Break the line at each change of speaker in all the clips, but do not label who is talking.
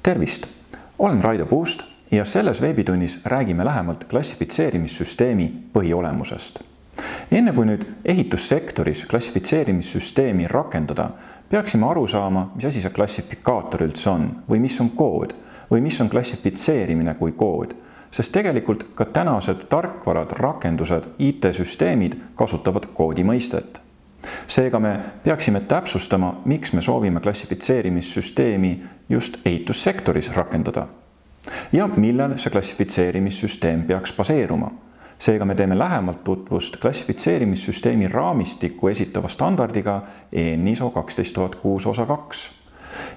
Tervist! Olen Raido Puust ja selles veebitunnis räägime lähemalt klassifitseerimissüsteemi põhiolemusest. Enne kui nüüd ehitussektoris klassifitseerimissüsteemi rakendada, peaksime aru saama, mis asi see klassifikaator üldse on või mis on kood või mis on klassifitseerimine kui kood, sest tegelikult ka tänased tarkvarad, rakendused, IT-süsteemid kasutavad koodi mõistet. Seega me peaksime täpsustama, miks me soovime klassifitseerimissüsteemi just ehitussektoris rakendada ja millel see klassifitseerimissüsteem peaks baseeruma. Seega me teeme lähemalt tutvust klassifitseerimissüsteemi raamistikku esitava standardiga EN-ISO 12006 osa 2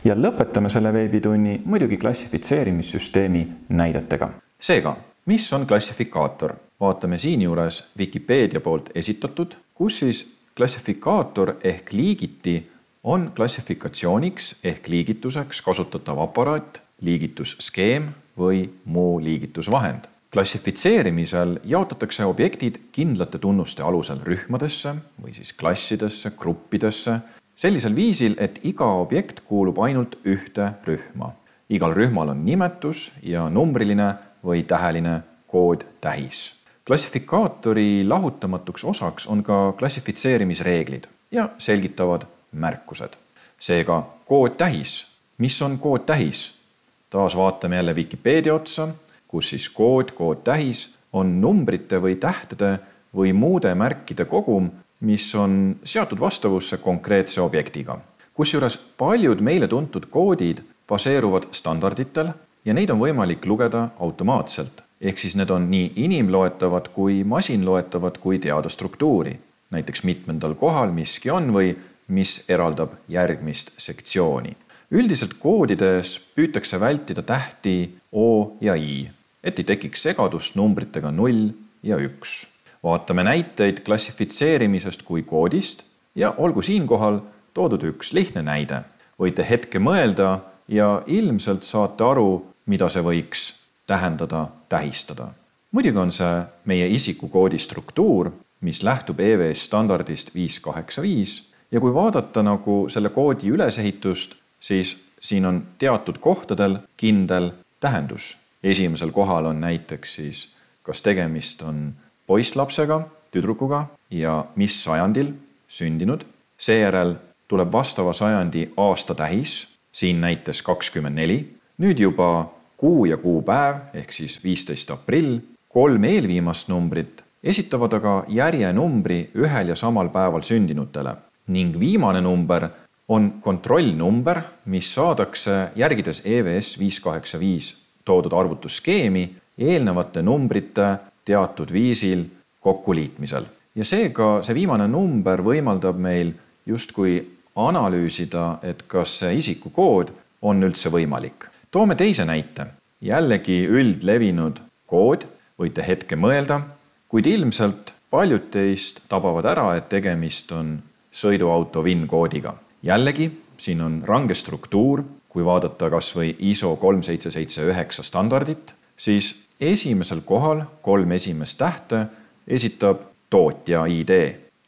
ja lõpetame selle veebitunni muidugi klassifitseerimissüsteemi näidetega. Seega, mis on klassifikaator? Vaatame siinjuures Wikipedia poolt esitatud, kus siis klassifikaator ehk liigiti on klassifikatsiooniks ehk liigituseks kasutatav aparaat, liigitusskeem või muu liigitusvahend. Klassifitseerimisel jaotatakse objektid kindlate tunnuste alusel rühmadesse või siis klassidesse, gruppidesse, sellisel viisil, et iga objekt kuulub ainult ühte rühma. Igal rühmal on nimetus ja numbriline või täheline koodtähis. Klassifikaatori lahutamatuks osaks on ka klassifitseerimisreeglid ja selgitavad märkused. Seega koodtähis. Mis on koodtähis? Taas vaatame jälle Wikipedia otsa, kus siis koodtähis on numbrite või tähtede või muude märkide kogum, mis on seatud vastavusse konkreetse objektiga. Kusjuures paljud meile tuntud koodid baseeruvad standarditel ja neid on võimalik lugeda automaatselt. Ehk siis need on nii inimloetavad kui masinloetavad kui teada struktuuri. Näiteks mitmendal kohal miski on või mis eraldab järgmist sektsiooni. Üldiselt koodides püütakse vältida tähti O ja I, et ei tekiks segadust numbritega 0 ja 1. Vaatame näiteid klassifitseerimisest kui koodist ja olgu siinkohal toodud üks lihtne näide. Võite hetke mõelda ja ilmselt saate aru, mida see võiks tähendada, tähistada. Muidugi on see meie isikukoodi struktuur, mis lähtub EVS standardist 585 ja kui vaadata nagu selle koodi ülesehitust, siis siin on teatud kohtadel kindel tähendus. Esimesel kohal on näiteks siis, kas tegemist on poisslapsega, tüdrukuga ja mis sajandil sündinud. Seejärel tuleb vastava sajandi aastatähis, siin näites 24. Nüüd juba kuu ja kuupäev ehk siis 15. aprill, 3 eelviimast numbrit esitavad aga järjenumbri ühel ja samal päeval sündinutele ning viimane number on kontrollnumber, mis saadakse järgides EVS 585 toodud arvutusskeemi eelnevate numbrite teatud viisil kokkuliitmisel. Ja seega see viimane number võimaldab meil justkui analüüsida, et kas see isikukood on üldse võimalik. Toome teise näite. Jällegi üldlevinud kood, võite hetke mõelda, kuid ilmselt paljud teist tabavad ära, et tegemist on sõiduauto VIN-koodiga. Jällegi, siin on range struktuur, kui vaadata kas või ISO 3779 standardit, siis esimesel kohal 3 esimest tähte esitab tootja ID,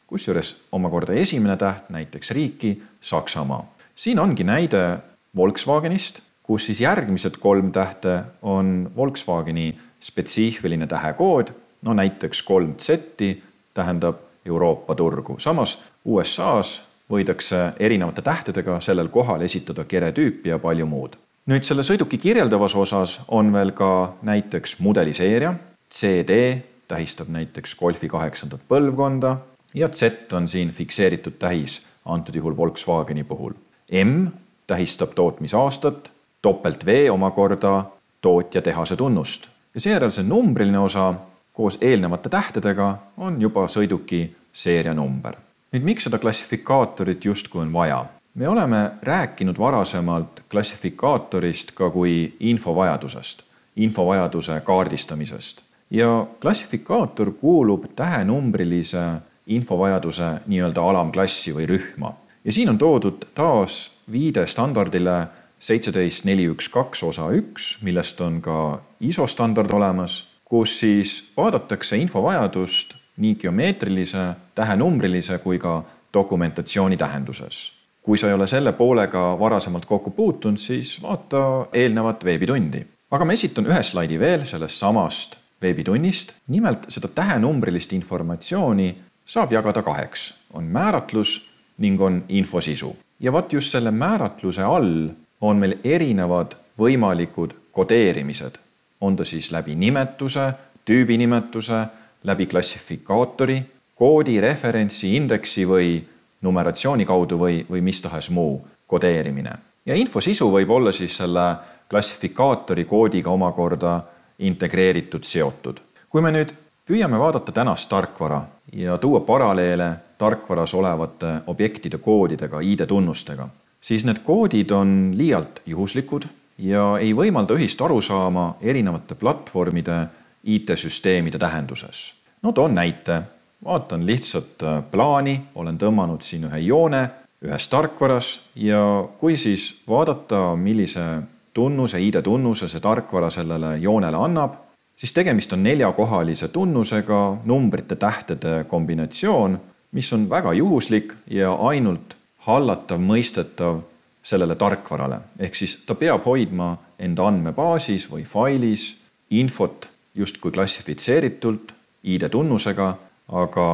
kusjuures omakorda esimene täht näiteks riiki Saksamaa. Siin ongi näide Volkswagenist, kus siis järgmised 3 tähte on Volkswageni spetsiifiline tähekood, no näiteks 3Z tähendab Euroopa turgu. Samas USAs võidakse erinevate tähtedega sellel kohal esitada keretüüpi ja palju muud. Nüüd selle sõiduki kirjeldavas osas on veel ka näiteks mudeliseeria, CD tähistab näiteks Golfi 8. põlvkonda ja Z on siin fikseeritud tähis antud juhul Volkswageni puhul. M tähistab tootmisaastat, doppelt V omakorda tootja tehase tunnust. Ja seejärel see numbriline osa koos eelnevate tähtedega on juba sõiduki seerianumber. Nüüd miks seda klassifikaatorit justkui on vaja? Me oleme rääkinud varasemalt klassifikaatorist ka kui infovajadusest, infovajaduse kaardistamisest. Ja klassifikaator kuulub tähenumbrilise infovajaduse nii-öelda alamklassi või rühma. Ja siin on toodud taas viide standardile 17412 osa 1, millest on ka ISO standard olemas, kus siis vaadatakse infovajadust nii geomeetrilise, tähenumbrilise kui ka dokumentatsiooni tähenduses. Kui sa ei ole selle poolega varasemalt kokku puutunud, siis vaata eelnevat veebitundi. Aga ma esitan ühe slaidi veel sellest samast veebitunnist. Nimelt seda tähenumbrilist informatsiooni saab jagada 2. On määratlus ning on infosisu. Ja vaat just selle määratluse all on meil erinevad võimalikud kodeerimised. On ta siis läbi nimetuse, tüübinimetuse, läbi klassifikaatori, koodi, referentsi, indeksi või numeratsiooni kaudu või mis tahes muu kodeerimine. Ja infosisu võib olla siis selle klassifikaatori koodiga omakorda integreeritud seotud. Kui me nüüd püüame vaadata tänast tarkvara ja tuua paralleele tarkvaras olevate objektide koodidega, ID-tunnustega, siis need koodid on liialt juhuslikud ja ei võimalda ühist arusaama erinevate platvormide IT-süsteemide tähenduses. No toon näite. Vaatan lihtsalt plaani, olen tõmmanud siin ühe joone ühes tarkvaras ja kui siis vaadata, millise tunnuse, ID-tunnuse see tarkvara sellele joonele annab, siis tegemist on 4-kohalise tunnusega numbrite tähtede kombinatsioon, mis on väga juhuslik ja ainult hallatav, mõistetav sellele tarkvarale. Ehk siis ta peab hoidma enda andmebaasis või failis infot justkui klassifitseeritult ID-tunnusega, aga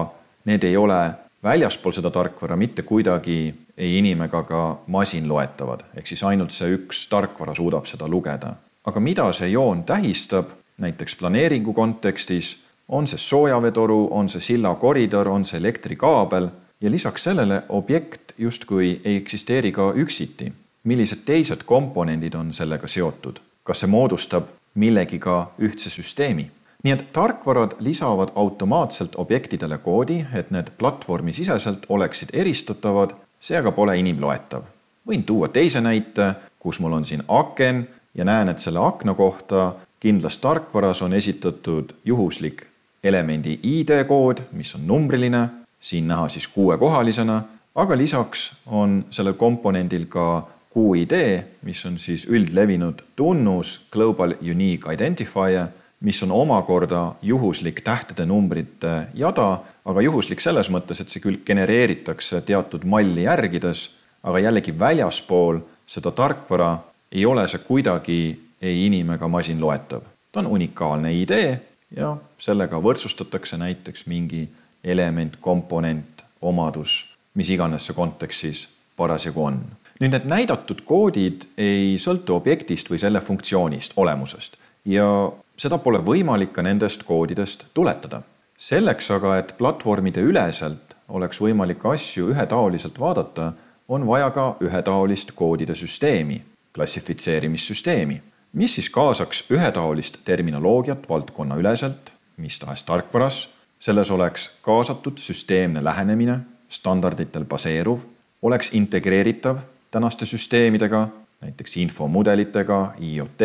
need ei ole väljaspool seda tarkvara mitte kuidagi ei inim- ega ka masin loetavad. Ehk siis ainult see üks tarkvara suudab seda lugeda. Aga mida see joon tähistab, näiteks planeeringu kontekstis, on see soojaveetoru, on see silla koridor, on see elektrikaabel ja lisaks sellele objekt justkui ei eksisteeri ka üksiti. Millised teised komponendid on sellega seotud? Kas see moodustab millegiga ühtse süsteemi? Nii et tarkvarad lisavad automaatselt objektidele koodi, et need platvormi siseselt oleksid eristatavad, see aga pole inimloetav. Võin tuua teise näite, kus mul on siin aken ja näen, et selle akna kohta kindlas tarkvaras on esitatud juhuslik elemendi ID-kood, mis on numbriline, siin näha siis 6-kohalisena, aga lisaks on sellel komponendil ka QID, mis on siis üldlevinud tunnus Global Unique Identifier, mis on omakorda juhuslik tähtede numbrite jada, aga juhuslik selles mõttes, et see küll genereeritakse teatud malli järgides, aga jällegi väljaspool seda tarkvara ei ole see kuidagi ei inim- ega masin loetav. Ta on unikaalne ID ja sellega võrdsustatakse näiteks mingi element, komponent, omadus, mis iganes see kontekstis parasjagu on. Nüüd need näidatud koodid ei sõltu objektist või selle funktsioonist, olemusest ja seda pole võimalik ka nendest koodidest tuletada. Selleks aga, et platvormide üleselt oleks võimalik asju ühetaoliselt vaadata, on vaja ka ühetaolist koodide süsteemi, klassifitseerimissüsteemi, mis siis kaasaks ühetaolist terminoloogiat valdkonna üleselt, mis tahes tarkvaras, selles oleks kaasatud süsteemne lähenemine, standarditel baseeruv, oleks integreeritav tänaste süsteemidega, näiteks infomudelitega, IoT,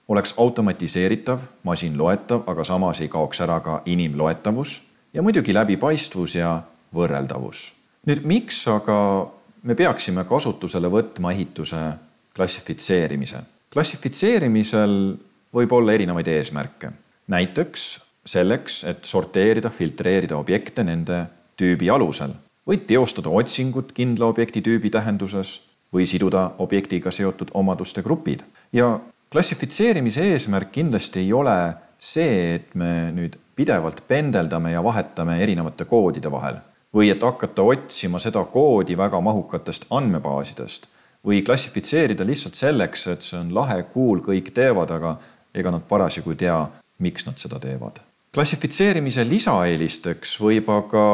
oleks automatiseeritav, masinloetav, aga samas ei kaoks ära ka inimloetavus ja muidugi läbipaistvus ja võrreldavus. Nüüd, miks aga me peaksime kasutusele võtma ehituse klassifitseerimise? Klassifitseerimisel võib olla erinevaid eesmärke. Näiteks selleks, et sorteerida, filtreerida objekte nende tüübi alusel. Võid teostada otsingut kindla objekti tüübi tähenduses või siduda objektiga seotud omaduste grupid. Ja klassifitseerimise eesmärk kindlasti ei ole see, et me nüüd pidevalt pendeldame ja vahetame erinevate koodide vahel või et hakata otsima seda koodi väga mahukatest andmebaasidest või klassifitseerida lihtsalt selleks, et see on lahe, cool, kõik teevad, aga ega nad parasjagu tea, miks nad seda teevad. Klassifitseerimise lisaeelisteks võib aga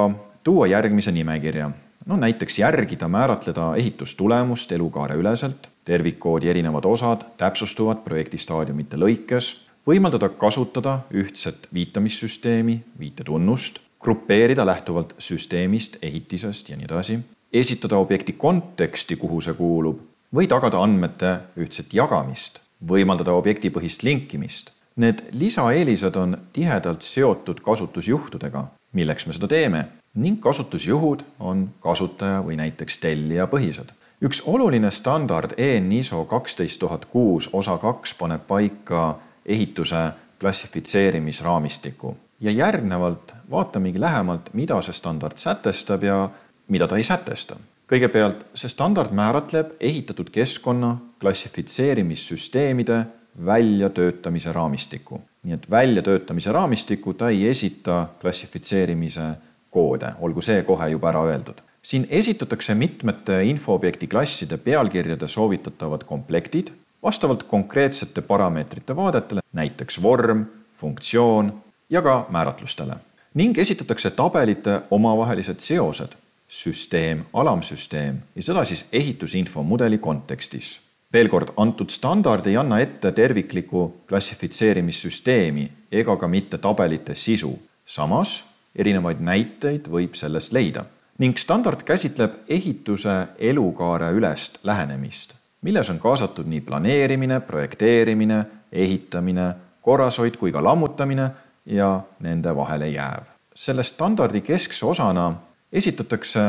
tuua järgmise nimekirja. No näiteks järgida, määratleda ehitustulemust elukaare üleselt, tervikkoodi erinevad osad täpsustuvad projektistaadiumite lõikes, võimaldada kasutada ühtset viitamissüsteemi, viitetunnust, grupeerida lähtuvalt süsteemist, ehitisest ja nii edasi, esitada objekti konteksti, kuhu see kuulub, või tagada andmete ühtset jagamist, võimaldada objektipõhist linkimist. Need lisaeelised on tihedalt seotud kasutusjuhtudega, milleks me seda teeme, ning kasutusjuhud on kasutaja või näiteks tellija põhised. Üks oluline standard EN ISO 12006 osa 2 paneb paika ehituse klassifitseerimisraamistiku. Ja järgnevalt vaatamegi lähemalt, mida see standard sätestab ja mida ta ei sätesta. Kõigepealt, see standard määratleb ehitatud keskkonna klassifitseerimissüsteemide väljatöötamise raamistiku. Nii et väljatöötamise raamistiku ta ei esita klassifitseerimise koode, olgu see kohe juba ära öeldud. Siin esitatakse mitmete infoobjekti klasside pealkirjade soovitatavad komplektid vastavalt konkreetsete parameetrite vaadetele, näiteks vorm, funktsioon ja ka määratlustele. Ning esitatakse tabelite omavahelised seosed, süsteem, alamsüsteem ja seda siis ehitusinfo mudeli kontekstis. Veel kord, antud standard ei anna ette terviklikku klassifitseerimissüsteemi ega ka mitte tabelite sisu. Samas, erinevaid näiteid võib sellest leida. Ning standard käsitleb ehituse elukaare ülest lähenemist, milles on kaasatud nii planeerimine, projekteerimine, ehitamine, korrashoid kui ka lammutamine ja nende vahele jääv. Selle standardi keskse osana esitatakse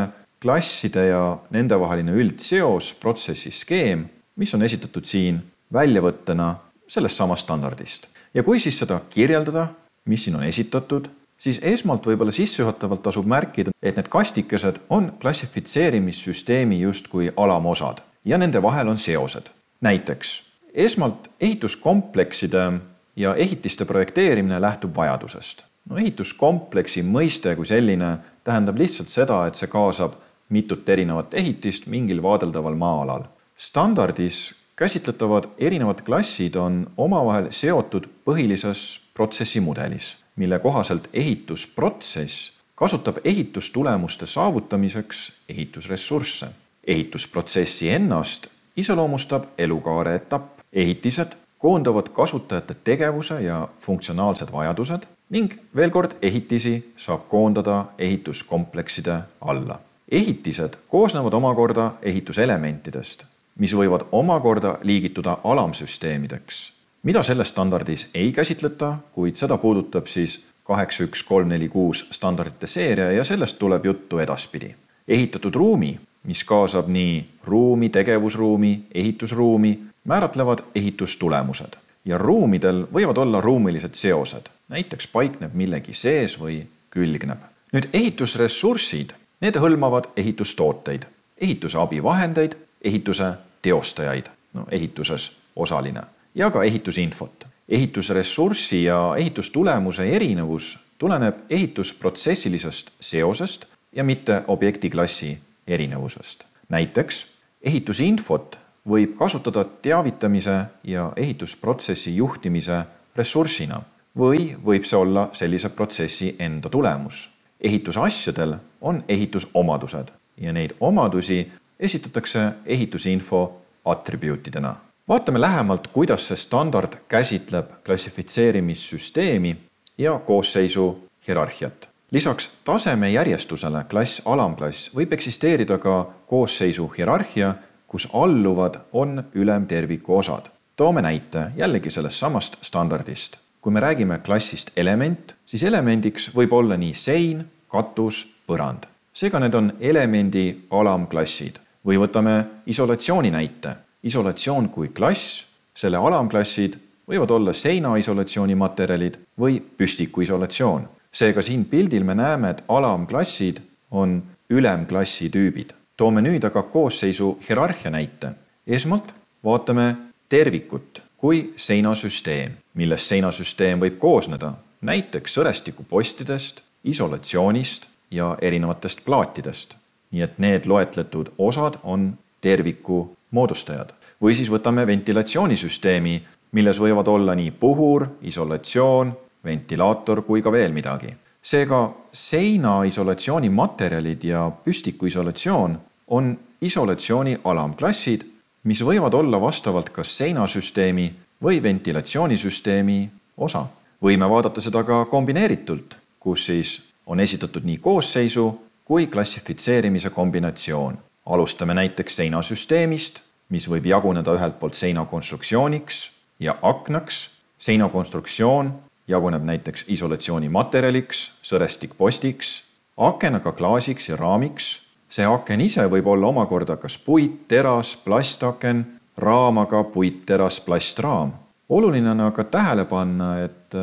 klasside ja nende vaheline üldseos protsessi skeem, mis on esitatud siin väljavõttena sellest samast standardist. Ja kui siis seda kirjeldada, mis siin on esitatud, siis esmalt võib-olla sissejuhatavalt tasub märkida, et need kastikesed on klassifitseerimissüsteemi justkui alamosad ja nende vahel on seosed. Näiteks, esmalt ehituskomplekside ja ehitiste projekteerimine lähtub vajadusest. Ehituskompleksi mõiste kui selline tähendab lihtsalt seda, et see kaasab mitut erinevat ehitist mingil vaadeldaval maa-alal. Standardis käsitletavad erinevad klassid on omavahel seotud põhilises protsessimudelis, mille kohaselt ehitusprotsess kasutab ehitustulemuste saavutamiseks ehitusressursse. Ehitusprotsessi ennast iseloomustab elukaare etapp. Ehitised koondavad kasutajate tegevuse ja funktsionaalsed vajadused ning veel kord ehitisi saab koondada ehituskomplekside alla. Ehitised koosnevad omakorda ehituselementidest, mis võivad omakorda liigituda alamsüsteemideks, mida selles standardis ei käsitleta, kuid seda puudutab siis 81346 standardite seeria ja sellest tuleb juttu edaspidi. Ehitatud ruumi, mis kaasab nii ruumi, tegevusruumi, ehitusruumi, määratlevad ehitustulemused ja ruumidel võivad olla ruumilised seosed, näiteks paikneb millegi sees või külgneb. Nüüd ehitusressursid, need hõlmavad ehitustooteid, ehituse abivahendeid, ehituse teostajaid, ehituses osaline ja ka ehitusinfot. Ehitusressurssi ja ehitustulemuse erinevus tuleneb ehitusprotsessilisest seosest ja mitte objektiklassi erinevusest. Näiteks ehitusinfot võib kasutada teavitamise ja ehitusprotsessi juhtimise ressursina või võib see olla sellise protsessi enda tulemus. Ehitusasjadel on ehitusomadused ja neid omadusi esitatakse ehitusinfo atribuutidena. Vaatame lähemalt, kuidas see standard käsitleb klassifitseerimissüsteemi ja koosseisu hierarhiat. Lisaks taseme järjestusele klass, alamklass võib eksisteerida ka koosseisu hierarhia, kus alluvad on ülemterviku osad. Toome näite jällegi sellest samast standardist. Kui me räägime klassist element, siis elemendiks võib olla nii sein, katus, põrand. Seega need on elemendi alamklassid. Või võtame isolatsiooni näite. Isolatsioon kui klass, selle alamklassid võivad olla seinaisolatsiooni materjalid või püstikuisolatsioon. Seega siin pildil me näeme, et alamklassid on ülemklassi tüübid. Toome nüüd aga koosseisu hierarhia näite. Esmalt vaatame tervikut kui seinasüsteem, millest seinasüsteem võib koosneda näiteks sõrestikupostidest, isolatsioonist ja erinevatest plaatidest. Nii et need loetletud osad on terviku moodustajad. Või siis võtame ventilatsioonisüsteemi, milles võivad olla nii puhur, isolatsioon, ventilaator kui ka veel midagi. Seega seinaisolatsiooni materjalid ja püstikuisolatsioon on isolatsiooni alamklassid, mis võivad olla vastavalt kas seinasüsteemi või ventilatsioonisüsteemi osa. Võime vaadata seda ka kombineeritult, kus siis on esitatud nii koosseisu kui klassifitseerimise kombinatsioon. Alustame näiteks seinasüsteemist, mis võib jaguneda ühelt poolt seinakonstruktsiooniks ja aknaks. Seinakonstruktsioon jaguneb näiteks isolatsiooni materjaliks, sõrestikpostiks, akenaga klaasiks ja raamiks. See aken ise võib olla omakorda kas puit, teras, plastaken, raamaga puit, teras, plastraam. Oluline on aga tähele panna, et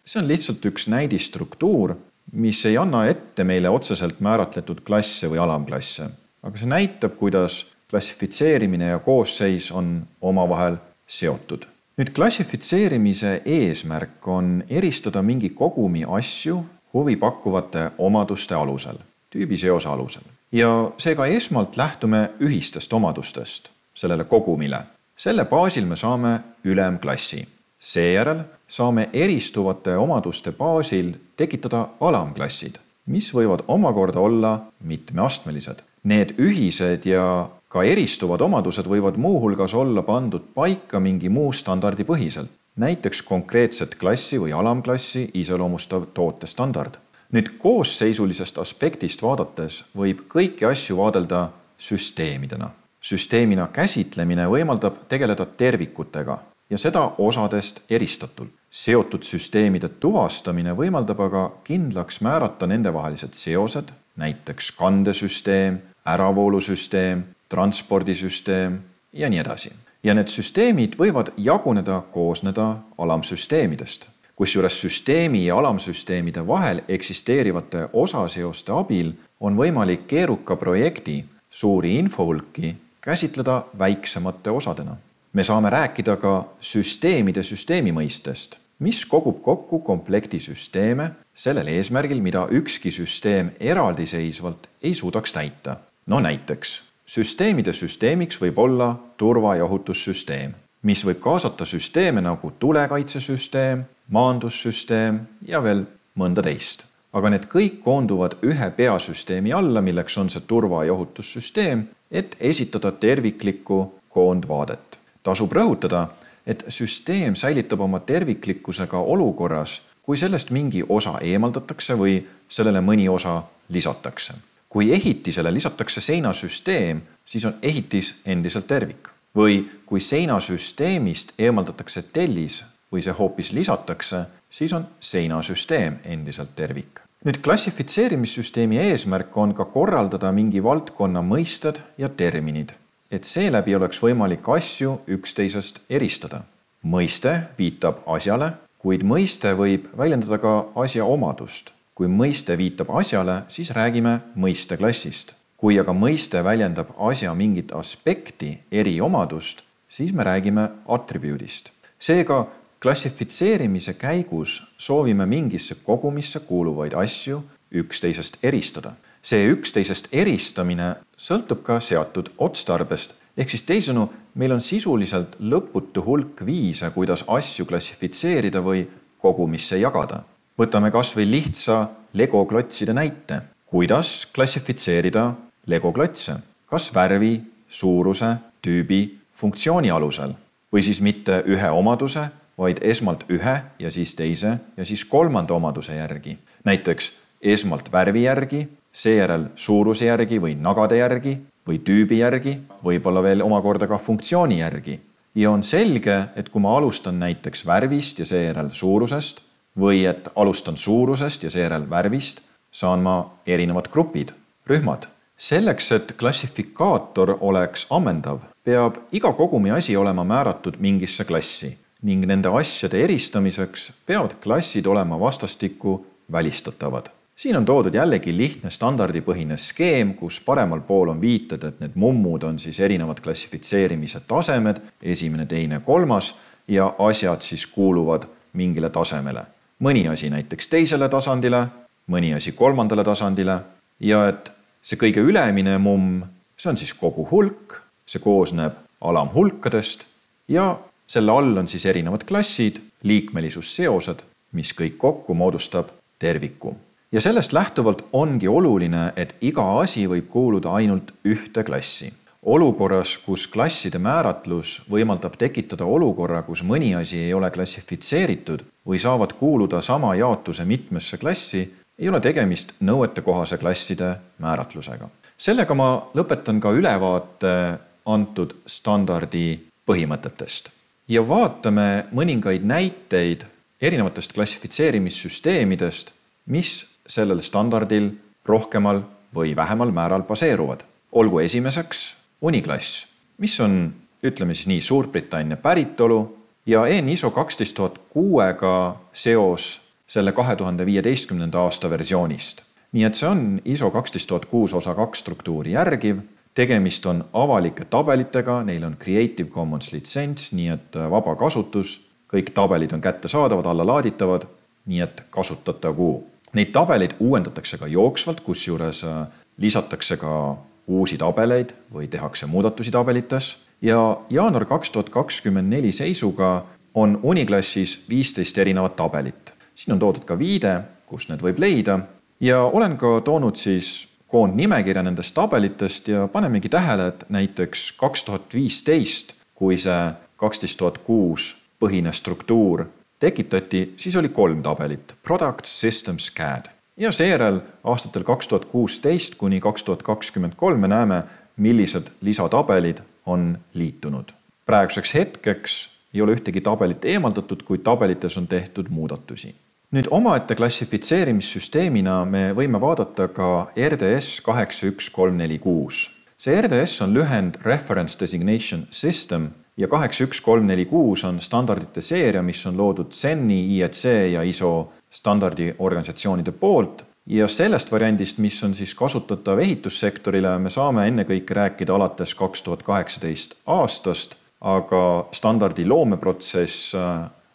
see on lihtsalt üks näidistruktuur, mis ei anna ette meile otseselt määratletud klasse või alamklasse. aga see näitab, kuidas klassifitseerimine ja koosseis on omavahel seotud. Nüüd klassifitseerimise eesmärk on eristada mingi kogumi asju huvi pakkuvate omaduste alusel, tüübiseose alusel. Ja seega esmalt lähtume ühistest omadustest sellele kogumile. Selle baasil me saame ülemklassi. Seejärel saame eristuvate omaduste baasil tekitada alamklassid, mis võivad omakorda olla mitmeastmelised. Need ühised ja ka eristuvad omadused võivad muuhulgas olla pandud paika mingi muu standardi põhiselt, näiteks konkreetset klassi või alamklassi iseloomustav tootestandard. Nüüd koosseisulisest aspektist vaadates võib kõiki asju vaadelda süsteemidena. Süsteemina käsitlemine võimaldab tegeleda tervikutega ja seda osadest eristatult. Seotud süsteemide tuvastamine võimaldab aga kindlaks määrata nendevahelised seosed, näiteks kandesüsteem, äravoolusüsteem, transpordisüsteem ja nii edasi. Ja need süsteemid võivad jaguneda, koosneda alamsüsteemidest, kusjuures süsteemi ja alamsüsteemide vahel eksisteerivate osaseoste abil on võimalik keeruka projekti suuri infohulki käsitleda väiksemate osadena. Me saame rääkida ka süsteemide süsteemi mõistest, mis kogub kokku komplekti süsteeme sellel eesmärgil, mida ükski süsteem eraldiseisvalt ei suudaks täita. No näiteks, süsteemide süsteemiks võib olla turva- ja ohutussüsteem, mis võib kaasata süsteeme nagu tulekaitsesüsteem, maandussüsteem ja veel mõnda teist. Aga need kõik koonduvad ühe peasüsteemi alla, milleks on see turva- ja ohutussüsteem, et esitada terviklikku koondvaadet. Tasub rõhutada, et süsteem säilitab oma terviklikkusega olukorras, kui sellest mingi osa eemaldatakse või sellele mõni osa lisatakse. Kui ehitisele lisatakse seinasüsteem, siis on ehitis endiselt tervik. Või kui seinasüsteemist eemaldatakse tellis või see hoopis lisatakse, siis on seinasüsteem endiselt tervik. Nüüd klassifitseerimissüsteemi eesmärk on ka korraldada mingi valdkonna mõisted ja terminid, et seeläbi oleks võimalik asju üksteisest eristada. Mõiste viitab asjale, kuid mõiste võib väljendada ka asja omadust. Kui mõiste viitab asjale, siis räägime mõisteklassist. Kui aga mõiste väljendab asja mingit aspekti, eriomadust, siis me räägime atribuudist. Seega klassifitseerimise käigus soovime mingisse kogumisse kuuluvaid asju üksteisest eristada. See üksteisest eristamine sõltub ka seatud otstarbest, ehk siis teisõnu, meil on sisuliselt lõputu hulk viise, kuidas asju klassifitseerida või kogumisse jagada. Võtame kas või lihtsa legoklotside näite. Kuidas klassifitseerida legoklotse? Kas värvi, suuruse, tüübi, funktsiooni alusel? Või siis mitte ühe omaduse, vaid esmalt ühe ja siis teise ja siis kolmanda omaduse järgi. Näiteks esmalt värvi järgi, seejärel suuruse järgi või nagade järgi või tüübi järgi, võib-olla veel omakorda ka funktsiooni järgi. Ja on selge, et kui ma alustan näiteks värvist ja seejärel suurusest või et alustan suurusest ja seejärel värvist, saan ma erinevad grupid, rühmad. Selleks, et klassifikaator oleks ammendav, peab iga kogumi asi olema määratud mingisse klassi ning nende asjade eristamiseks peavad klassid olema vastastikku välistatavad. Siin on toodud jällegi lihtne standardipõhine skeem, kus paremal pool on viited, et need mummud on siis erinevad klassifitseerimise tasemed, esimene, teine, kolmas ja asjad siis kuuluvad mingile tasemele. Mõni asi näiteks teisele tasandile, mõni asi kolmandale tasandile ja et see kõige ülemine mumm, see on siis kogu hulk, see koosneb alamhulkadest ja selle all on siis erinevad klassid, liikmelisusseosed, mis kõik kokku moodustab terviku. Ja sellest lähtuvalt ongi oluline, et iga asi võib kuuluda ainult ühte klassi. Olukorras, kus klasside määratlus võimaldab tekitada olukorra, kus mõni asi ei ole klassifitseeritud või saavad kuuluda sama jaotuse mitmesse klassi, ei ole tegemist nõuetekohase klasside määratlusega. Sellega ma lõpetan ka ülevaate antud standardi põhimõtetest. Ja vaatame mõningaid näiteid erinevatest klassifitseerimissüsteemidest, mis sellel standardil rohkemal või vähemal määral baseeruvad. Olgu esimeseks Uniklass, mis on, ütleme siis nii, Suurbritannia päritolu ja EN ISO 12006-ga seos selle 2015. aasta versioonist. Nii et see on ISO 12006 osa 2 struktuuri järgiv tegemist on avalike tabelitega, neil on Creative Commons litsents, nii et vaba kasutus, kõik tabelid on kättesaadavad, allalaaditavad, nii et kasutatagu. Neid tabeleid uuendatakse ka jooksvalt, kus juures lisatakse ka uusi tabeleid või tehakse muudatusi tabelites ja jaanuar 2024 seisuga on Uniklassis 15 erinevat tabelit. Siin on toodud ka viide, kus need võib leida ja olen ka toonud siis koondnimekirja nendest tabelitest ja panemegi tähele, et näiteks 2015, kui see 12006 põhine struktuur tekitati, siis oli 3 tabelit, Products, Systems, CAD. Ja seejärel aastatel 2016 kuni 2023 me näeme, millised lisatabelid on liitunud. Praeguseks hetkeks ei ole ühtegi tabelit eemaldatud, kuid tabelites on tehtud muudatusi. Nüüd omaette klassifitseerimissüsteemina me võime vaadata ka RDS 81346. See RDS on lühend Reference Designation System ja 81346 on standardite seeria, mis on loodud CEN-i, IEC ja ISO standardiorganisatsioonide poolt ja sellest variandist, mis on siis kasutatav ehitussektorile, me saame ennekõike rääkida alates 2018 aastast, aga standardi loomeprotsess,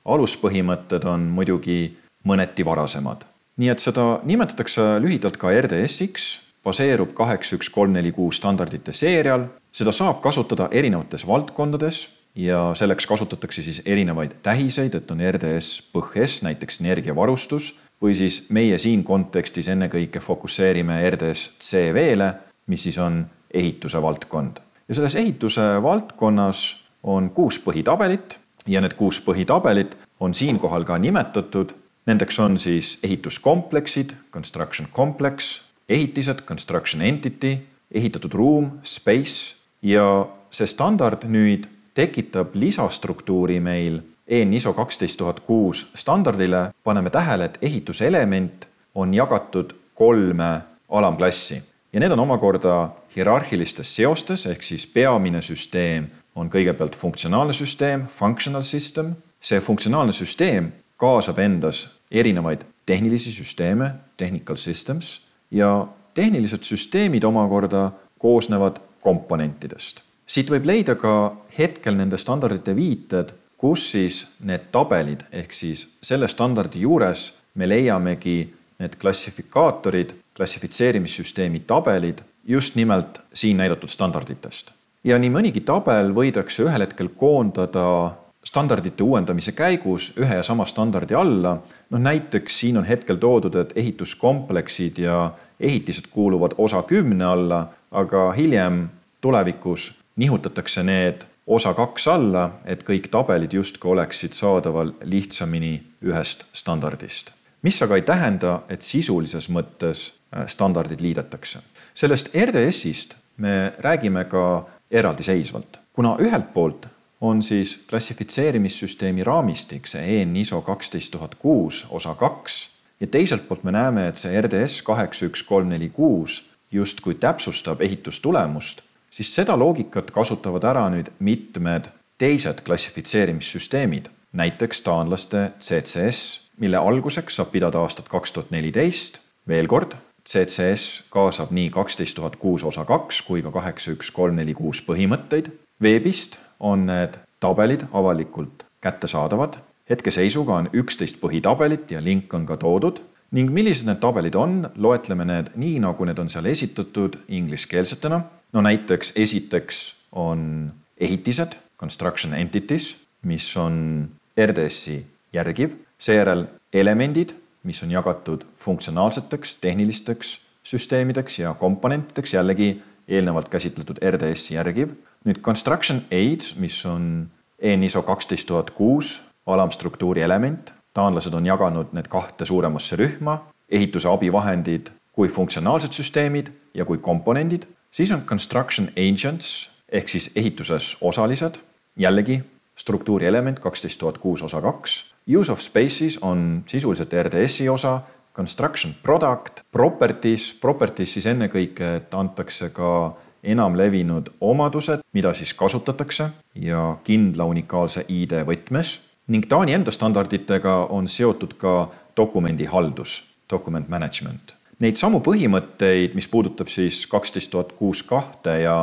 aluspõhimõtted on muidugi mõneti varasemad. Nii et seda nimetatakse lühidalt ka RDS-iks, baseerub 81346 standardite seerial, seda saab kasutada erinevates valdkondades ja selleks kasutatakse siis erinevaid tähiseid, et on RDS PõHS, näiteks energiavarustus, või siis meie siin kontekstis ennekõike fokusseerime RDS CV-le, mis siis on ehituse valdkond. Ja selles ehituse valdkonnas on 6 põhitabelit ja need 6 põhitabelit on siinkohal ka nimetatud. Nendeks on siis ehituskompleksid, construction complex, ehitised, construction entity, ehitatud ruum, space ja see standard nüüd tekitab lisastruktuuri meil EN-ISO 12006 standardile. Paneme tähele, et ehituselement on jagatud 3 alamklassi ja need on omakorda hierarhilistes seostes, ehk siis peamine süsteem on kõigepealt funktsionaalne süsteem, functional system. See funktsionaalne süsteem kaasab endas erinevaid tehnilisi süsteeme, technical systems, ja tehnilised süsteemid omakorda koosnevad komponentidest. Siit võib leida ka hetkel nende standardite viited, kus siis need tabelid, ehk siis selle standardi juures me leiamegi need klassifikaatorid, klassifitseerimissüsteemi tabelid just nimelt siin näidatud standarditest. Ja nii mõnigi tabel võidakse ühel hetkel koondada standardite uuendamise käigus ühe ja sama standardi alla. Näiteks siin on hetkel toodud, et ehituskompleksid ja ehitised kuuluvad osa 10 alla, aga hiljem tulevikus nihutatakse need osa 2 alla, et kõik tabelid justkui oleksid saadaval lihtsamini ühest standardist. Mis aga ei tähenda, et sisulises mõttes standardid liidetakse. Sellest RDS-ist me räägime ka eraldiseisvalt, kuna ühelt poolt on siis klassifitseerimissüsteemi raamistik, see EN-ISO 12006 osa 2 ja teiselt poolt me näeme, et see RDS 81346 justkui täpsustab ehitustulemust, siis seda loogikat kasutavad ära nüüd mitmed teised klassifitseerimissüsteemid, näiteks taanlaste CCS, mille alguseks saab pidada aastat 2014. Veel kord, CCS kaasab nii 12006 osa 2 kui ka 81346 põhimõtteid. Veebist on need tabelid avalikult kättesaadavad. Hetkeseisuga on 11 põhitabelit ja link on ka toodud. Ning millised need tabelid on, loetleme need nii, nagu need on seal esitatud ingliskeelsetena. Näiteks esiteks on ehitised, construction entities, mis on RDS-i järgiv. Seejärel elemendid, mis on jagatud funktsionaalseteks, tehnilisteks süsteemideks ja komponentideks, jällegi eelnevalt käsitletud RDS-i järgiv. Nüüd construction aids, mis on EN-ISO 12006 alamstruktuuri element. Taanlased on jaganud need 2 suuremasse rühma, ehituse abivahendid kui funktsionaalsed süsteemid ja kui komponendid. Siis on construction agents ehk siis ehituses osalised, jällegi struktuuri element 12006 osa 2. Use of spaces on sisuliselt RDS-i osa, construction product, properties siis ennekõike, et antakse ka enam levinud omadused, mida siis kasutatakse ja kindla unikaalse ID võtmes. Ning Taani enda standarditega on seotud ka dokumendihaldus, document management. Neid samu põhimõtteid, mis puudutab siis 12062 ja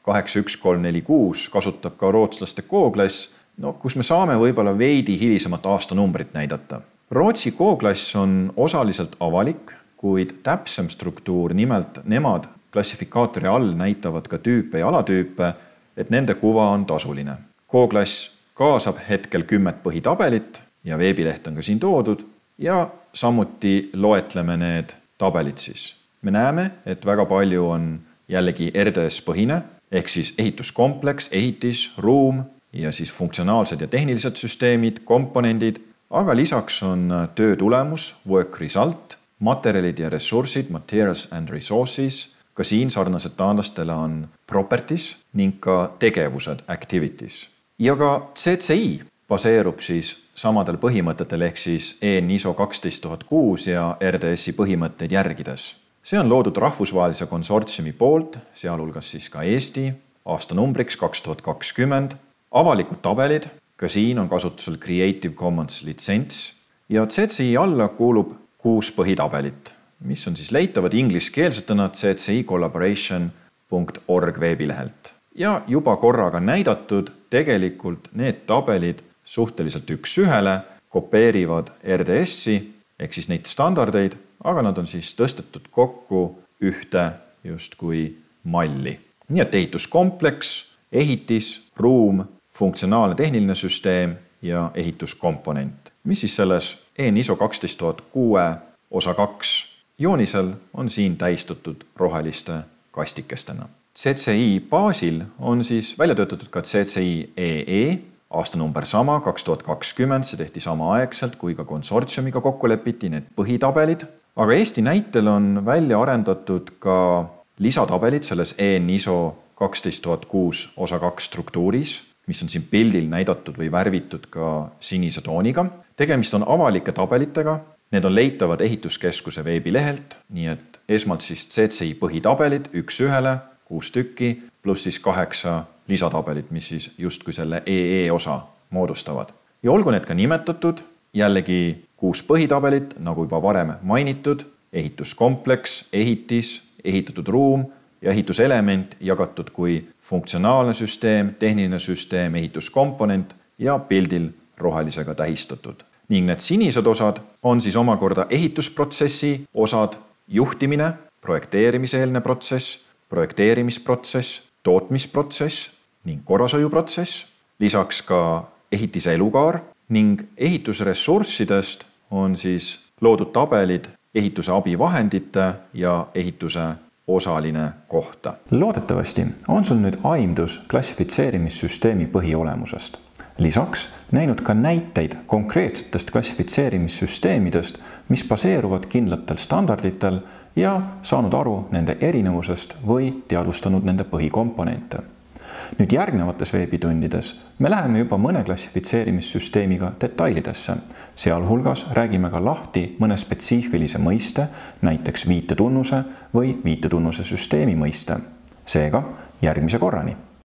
81346, kasutab ka rootslaste K-klass, kus me saame võib-olla veidi hilisemat aastanumbrit näidata. Rootsi K-klass on osaliselt avalik, kuid täpsem struktuur, nimelt nemad klassifikaatori all näitavad ka tüüpe ja alatüüpe, et nende kuva on tasuline. K-klass kaasab hetkel 10 põhitabelit ja veebileht on ka siin toodud ja samuti loetleme need tabelid siis. Me näeme, et väga palju on jällegi RDS-põhine, ehk siis ehituskompleks, ehitis, ruum ja siis funktsionaalsed ja tehnilised süsteemid, komponendid, aga lisaks on töö tulemus, work result, materjalid ja ressursid, materials and resources, ka siin sarnaselt taanlastele on properties ning ka tegevused, activities. Ja ka CCI baseerub siis samadel põhimõtetel ehk siis EN ISO 12006 ja RDS-i põhimõtteid järgides. See on loodud rahvusvahelise konsortsiumi poolt, sealhulgas siis ka Eesti, aastanumbriks 2020, avalikud tabelid, ka siin on kasutusel Creative Commons litsents ja CCI alla kuulub 6 põhitabelit, mis on siis leitavad ingliskeelsetena ccicollaboration.org veebilehelt. Ja juba korraga näidatud tegelikult need tabelid suhteliselt 1:1 kopeerivad RDS-i ehk siis neid standardeid, aga nad on siis tõstetud kokku ühte justkui malli. Nii et ehituskompleks, ehitis, ruum, funktsionaalne tehniline süsteem ja ehituskomponent, mis siis selles EN ISO 12006 osa 2 joonisel on siin tähistatud roheliste kastikestena. CCI baasil on siis välja töötatud ka CCI EE, aastanumber sama, 2020, see tehti samaaegselt, kui ka konsortsiumiga kokku lepiti need põhitabelid. Aga Eesti näitel on välja arendatud ka lisatabelid selles EN ISO 12006 osa 2 struktuuris, mis on siin pildil näidatud või värvitud ka sinise tooniga. Tegemist on avalike tabelitega. Need on leitavad ehituskeskuse veebilehelt, nii et esmalt siis CCI põhitabelid 1:1, 6 tükki, pluss siis 8 lisatabelit, mis siis justkui selle EE osa moodustavad. Ja olgu need ka nimetatud, jällegi 6 põhitabelit, nagu juba varem mainitud, ehituskompleks, ehitis, ehitatud ruum ja ehituselement jagatud kui funktsionaalne süsteem, tehniline süsteem, ehituskomponent ja pildil rohelisega tähistatud. Ning need sinised osad on siis omakorda ehitusprotsessi osad, juhtimine, projekteerimiseelne protsess, projekteerimisprotsess, tootmisprotsess ning korrashoiuprotsess, lisaks ka ehitise elukaar ning ehitusressurssidest on siis loodud tabelid ehituse abivahendite ja ehituse osaline kohta. Loodetavasti on sul nüüd aimdus klassifitseerimissüsteemi põhiolemusest. Lisaks näinud ka näiteid konkreetsetest klassifitseerimissüsteemidest, mis baseeruvad kindlatel standarditel ja saanud aru nende erinevusest või teadvustanud nende põhikomponente. Nüüd järgnevates veebitundides me läheme juba mõne klassifitseerimissüsteemiga detailidesse. Sealhulgas räägime ka lahti mõne spetsiifilise mõiste, näiteks viitetunnuse või viitetunnuse süsteemi mõiste. Seega järgmise korrani!